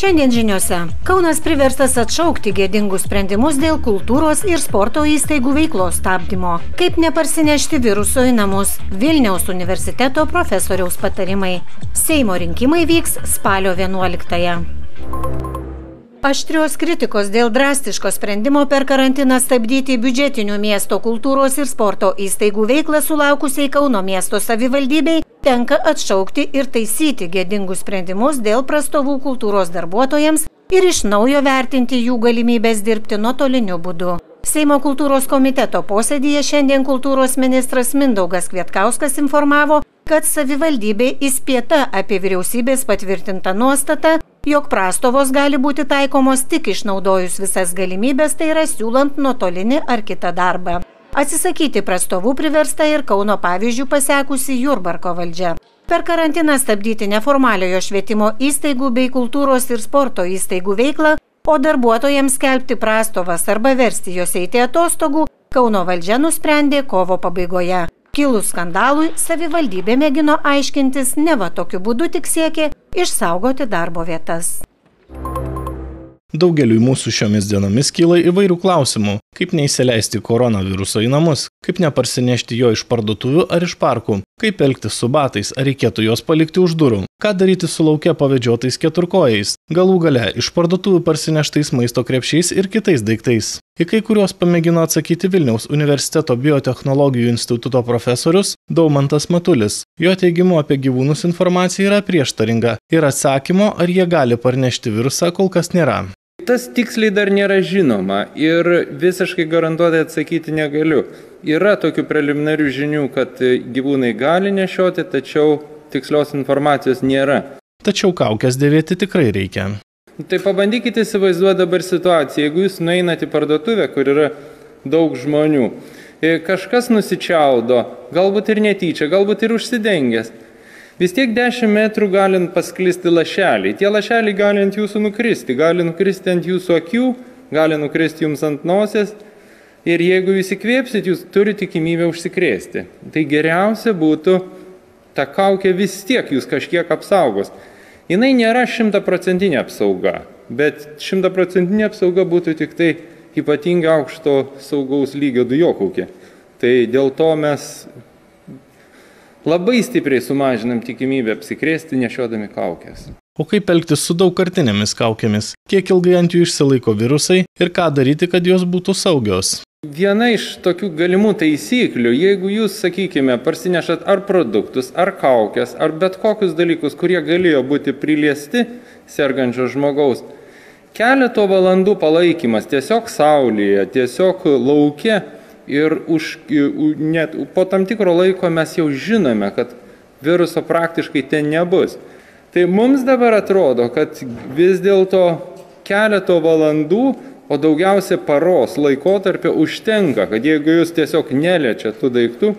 Šiandien žiniose Kaunas priverstas atšaukti gėdingus sprendimus dėl kultūros ir sporto įstaigų veiklos stabdymo. Kaip neparsinešti viruso į namus? Vilniaus universiteto profesoriaus patarimai. Seimo rinkimai vyks spalio 11-ąją. Aštrios kritikos dėl drastiško sprendimo per karantiną stabdyti biudžetinių miesto kultūros ir sporto įstaigų veiklą sulaukusiai Kauno miesto savivaldybei tenka atšaukti ir taisyti gėdingus sprendimus dėl prastovų kultūros darbuotojams ir iš naujo vertinti jų galimybės dirbti nuotoliniu būdu. Seimo kultūros komiteto posėdyje šiandien kultūros ministras Mindaugas Kvietkauskas informavo, kad savivaldybė įspėta apie vyriausybės patvirtintą nuostatą, jog prastovos gali būti taikomos tik išnaudojus visas galimybės, tai yra siūlant nuotolinį ar kitą darbą. Atsisakyti prastovų priversta ir Kauno pavyzdžių pasekusi Jurbarko valdžia. Per karantiną stabdyti neformaliojo švietimo įstaigų bei kultūros ir sporto įstaigų veiklą, o darbuotojams skelbti prastovas arba versti jos eiti atostogų, Kauno valdžia nusprendė kovo pabaigoje. Kilus skandalui, savivaldybė mėgino aiškintis, neva tokiu būdu tik siekė išsaugoti darbo vietas. Daugeliui mūsų šiomis dienomis kyla įvairių klausimų, kaip neįsileisti koronaviruso į namus, kaip neparsinešti jo iš parduotuvių ar iš parkų, kaip elgtis su batais, ar reikėtų juos palikti už durų, ką daryti su lauke pavedžiotais keturkojais, galų gale iš parduotuvių parsineštais maisto krepšiais ir kitais daiktais. Į kai kuriuos pamėgino atsakyti Vilniaus universiteto biotechnologijų instituto profesorius Daumantas Matulis. Jo teigimu apie gyvūnus informacija yra prieštaringa ir atsakymo, ar jie gali parnešti virusą, kol kas nėra. Tas tiksliai dar nėra žinoma ir visiškai garantuotai atsakyti negaliu. Yra tokių preliminarių žinių, kad gyvūnai gali nešioti, tačiau tikslios informacijos nėra. Tačiau kaukes dėvėti tikrai reikia. Tai pabandykite įsivaizduoti dabar situaciją. Jeigu jūs nueinate į parduotuvę, kur yra daug žmonių, kažkas nusičiaudo, galbūt ir netyčia, galbūt ir užsidengęs. Vis tiek 10 metrų galint pasklisti lašeliai. Tie lašeliai gali ant jūsų nukristi. Gali nukristi ant jūsų akių, gali nukristi jums ant nosies. Ir jeigu jūs įkvėpsit, jūs turite tikimybę užsikrėsti. Tai geriausia būtų, ta kaukė vis tiek jūs kažkiek apsaugos. Jinai nėra 100% apsauga, bet 100% apsauga būtų tik tai ypatingai aukšto saugaus lygio dujokaukė. Tai dėl to mes labai stipriai sumažinam tikimybę apsikrėsti nešiodami kaukės. O kaip elgtis su daugkartinėmis kaukėmis? Kiek ilgai ant jų išsilaiko virusai ir ką daryti, kad jos būtų saugios? Viena iš tokių galimų taisyklių, jeigu jūs, sakykime, parsinešat ar produktus, ar kaukės, ar bet kokius dalykus, kurie galėjo būti priliesti sergančio žmogaus, keleto valandų palaikymas tiesiog saulėje, tiesiog lauke ir net po tam tikro laiko mes jau žinome, kad viruso praktiškai ten nebus. Tai mums dabar atrodo, kad vis dėlto keleto valandų, o daugiausia paros laikotarpio užtenka, kad jeigu jūs tiesiog neliečiat tų daiktų,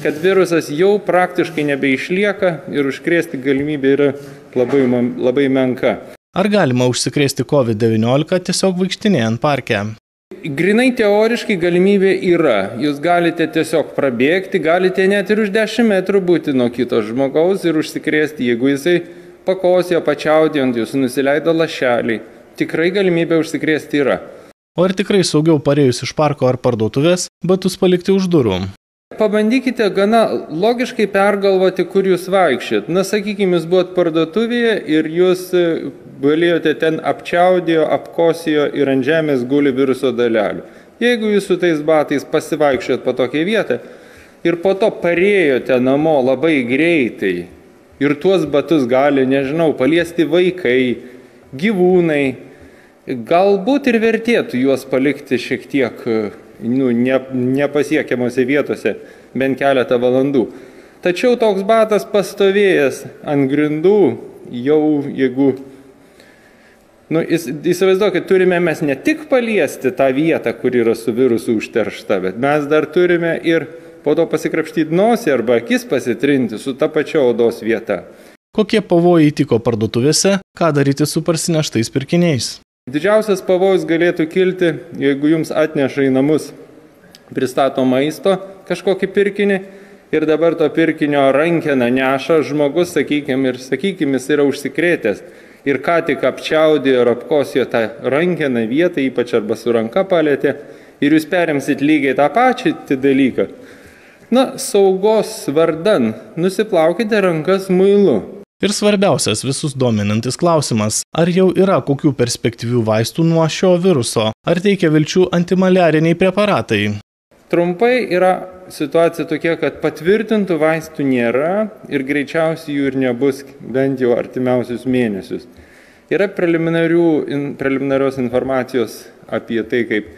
kad virusas jau praktiškai nebeišlieka ir užkrėsti galimybė yra labai menka. Ar galima užsikrėsti COVID-19 tiesiog vaikštinėjant parke? Grinai teoriškai galimybė yra. Jūs galite tiesiog prabėgti, galite net ir už 10 metrų būti nuo kito žmogaus ir užsikrėsti, jeigu jisai pakosėjo, pačiaudė ant jūsų, nusileido lašeliai. Tikrai galimybė užsikrėsti yra. O ar tikrai saugiau parėjus iš parko ar parduotuvės, batus palikti už durų? Pabandykite gana logiškai pergalvoti, kur jūs vaikščiat. Na, sakykime, jūs buvot parduotuvėje ir jūs galėjote ten apčiaudėjo, apkosijo ir ant žemės guli viruso dalelių. Jeigu jūs su tais batais pasivaikščiat po tokią vietą ir po to parėjote namo labai greitai ir tuos batus gali, nežinau, paliesti vaikai, gyvūnai, galbūt ir vertėtų juos palikti šiek tiek nepasiekiamose vietose bent keletą valandų. Tačiau toks batas pastovėjęs ant grindų, jau jeigu, įsivaizduokit, turime mes ne tik paliesti tą vietą, kur yra su virusu užteršta, bet mes dar turime ir po to pasikrapštyti nosį arba akis pasitrinti su ta pačia odos vieta. Kokie pavojai tiko parduotuvėse, ką daryti su parsineštais pirkiniais? Didžiausias pavojus galėtų kilti, jeigu jums atneša į namus pristato maisto kažkokį pirkinį ir dabar to pirkinio rankeną neša žmogus, sakykime, jis yra užsikrėtęs. ir ką tik apčiaudė ir apkosijo tą rankeną vietą, ypač arba su ranka palėtė, ir jūs perimsit lygiai tą pačią dalyką. Na, saugos vardan, nusiplaukite rankas muilu. Ir svarbiausias visus dominantis klausimas, ar jau yra kokių perspektyvių vaistų nuo šio viruso, ar teikia vilčių antimaliariniai preparatai. Trumpai yra situacija tokia, kad patvirtintų vaistų nėra ir greičiausiai jų ir nebus bent jau artimiausius mėnesius. Yra preliminarios informacijos apie tai, kaip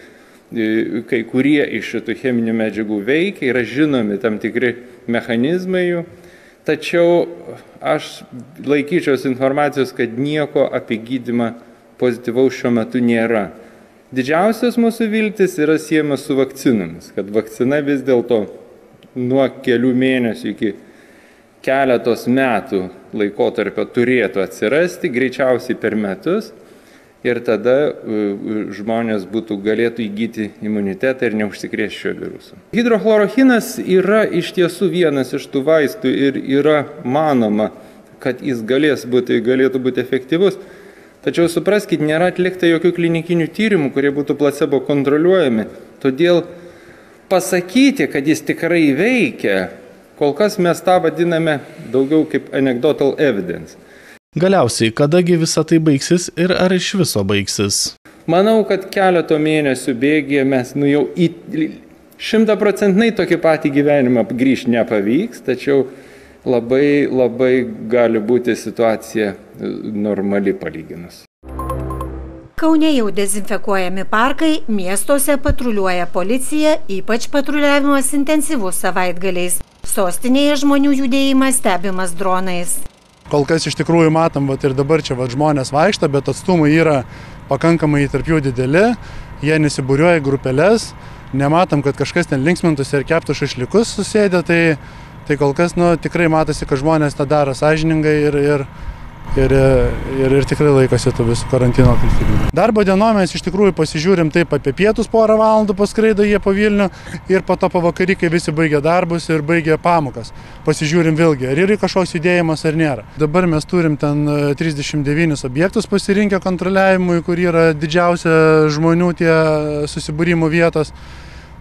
kai kurie iš šitų cheminių medžiagų veikia, yra žinomi tam tikri mechanizmai jų, tačiau aš laikyčiausi informacijos, kad nieko apie gydymą pozityvaus šiuo metu nėra. Didžiausias mūsų viltis yra siejamas su vakcinomis, kad vakcina vis dėlto nuo kelių mėnesių iki keletos metų laikotarpio turėtų atsirasti, greičiausiai per metus, ir tada žmonės galėtų įgyti imunitetą ir neužsikrės šio viruso. Hidrochlorochinas yra iš tiesų vienas iš tų vaistų ir yra manoma, kad jis galėtų būti efektyvus. Tačiau supraskit, nėra atlikta jokių klinikinių tyrimų, kurie būtų placebo kontroliuojami. Todėl pasakyti, kad jis tikrai veikia, kol kas mes tą vadiname daugiau kaip anecdotal evidence. Galiausiai, kadagi visa tai baigsis ir ar iš viso baigsis? Manau, kad keleto mėnesių bėgyje mes jau 100% tokį patį gyvenimą grįžti nepavyks, tačiau labai gali būti situacija normali palyginus. Kaune jau dezinfekuojami parkai, miestuose patruliuoja policija, ypač patruliavimas intensyvus savaitgaliais. Sostinėje žmonių judėjimas stebimas dronais. Kol kas iš tikrųjų matom, ir dabar čia žmonės vaikšta, bet atstumai yra pakankamai tarp jų dideli, jie nesibūriuoja grupelės, nematom, kad kažkas ten linksmintųsi ir keptų šašlikus susėdė, tai kol kas tikrai matosi, kad žmonės tą daro sąžiningai ir tikrai laikosi tų visų karantino taisyklių. Darbo dienom mes iš tikrųjų pasižiūrim taip apie pietus porą valandų paskraido jie po Vilnių ir po to pavakary, kai visi baigia darbus ir baigia pamokas. Pasižiūrim vėlgi, ar yra kažkoks judėjimas ar nėra. Dabar mes turim ten 39 objektus pasirinkę kontroliavimui, kur yra didžiausia žmonių tie susibūrimų vietos.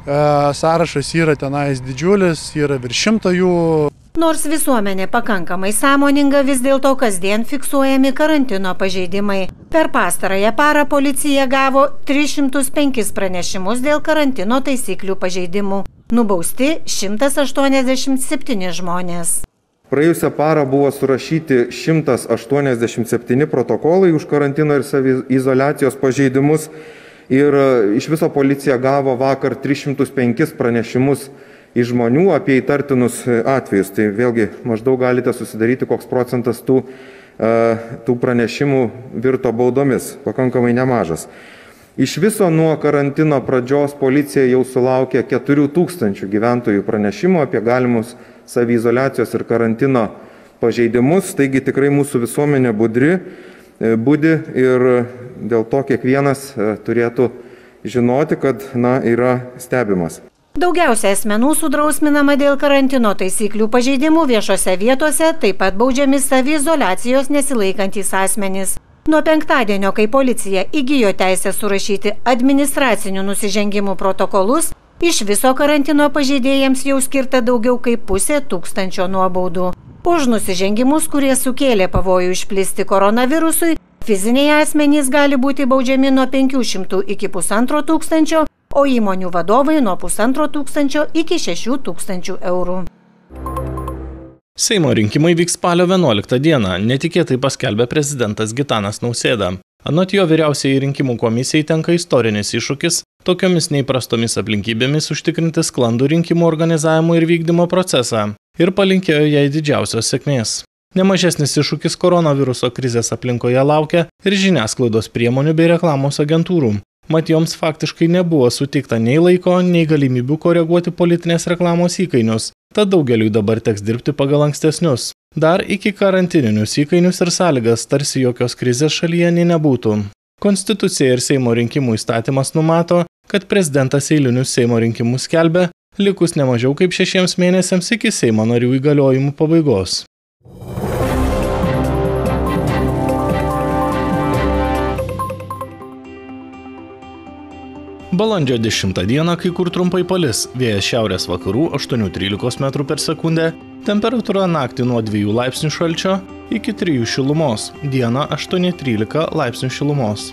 Sąrašas yra tenais didžiulis, yra virš 100 jų. Nors visuomenė pakankamai sąmoninga, vis dėlto kasdien fiksuojami karantino pažeidimai. Per pastarąją parą policija gavo 305 pranešimus dėl karantino taisyklių pažeidimų. Nubausti 187 žmonės. Praėjusią parą buvo surašyti 187 protokolai už karantino ir saviizoliacijos pažeidimus. Ir iš viso policija gavo vakar 305 pranešimus iš žmonių apie įtartinus atvejus. Tai vėlgi maždaug galite susidaryti, koks procentas tų pranešimų virto baudomis, pakankamai nemažas. Iš viso nuo karantino pradžios policija jau sulaukė 4000 gyventojų pranešimų apie galimus saviizoliacijos ir karantino pažeidimus. Taigi tikrai mūsų visuomenė budi ir dėl to kiekvienas turėtų žinoti, kad yra stebimas. Daugiausia asmenų sudrausminama dėl karantino taisyklių pažeidimų viešose vietose, taip pat baudžiami saviizoliacijos nesilaikantys asmenys. Nuo penktadienio, kai policija įgijo teisę surašyti administracinių nusižengimų protokolus, iš viso karantino pažeidėjams jau skirta daugiau kaip 500 nuobaudų. Už nusižengimus, kurie sukėlė pavojų išplisti koronavirusui, fiziniai asmenys gali būti baudžiami nuo 500 iki 1500, o įmonių vadovai nuo 1500 iki 6000 eurų. Seimo rinkimai vyks spalio 11 dieną, netikėtai paskelbė prezidentas Gitanas Nausėda. Anot jo, vyriausiai rinkimų komisijai tenka istorinis iššūkis tokiomis neįprastomis aplinkybėmis užtikrinti sklandų rinkimų organizavimo ir vykdymo procesą ir palinkėjo jai didžiausios sėkmės. Nemažesnis iššūkis koronaviruso krizės aplinkoje laukia ir žiniasklaidos priemonių bei reklamos agentūrų. Mat joms faktiškai nebuvo suteikta nei laiko, nei galimybių koreguoti politinės reklamos įkainius, tad daugeliui dabar teks dirbti pagal ankstesnius. Dar iki karantininius įkainius ir sąlygas, tarsi jokios krizės šalyje nei nebūtų. Konstitucija ir Seimo rinkimų įstatymas numato, kad prezidentas eilinius Seimo rinkimus skelbia, likus nemažiau kaip 6 mėnesiams iki Seimo narių įgaliojimų pabaigos. Balandžio 10 dieną kai kur trumpai palis, vėjas šiaurės vakarų 8–13 m per sekundę, temperatūra naktį nuo 2 laipsnių šalčio iki 3 šilumos, dieną 8–13 laipsnių šilumos.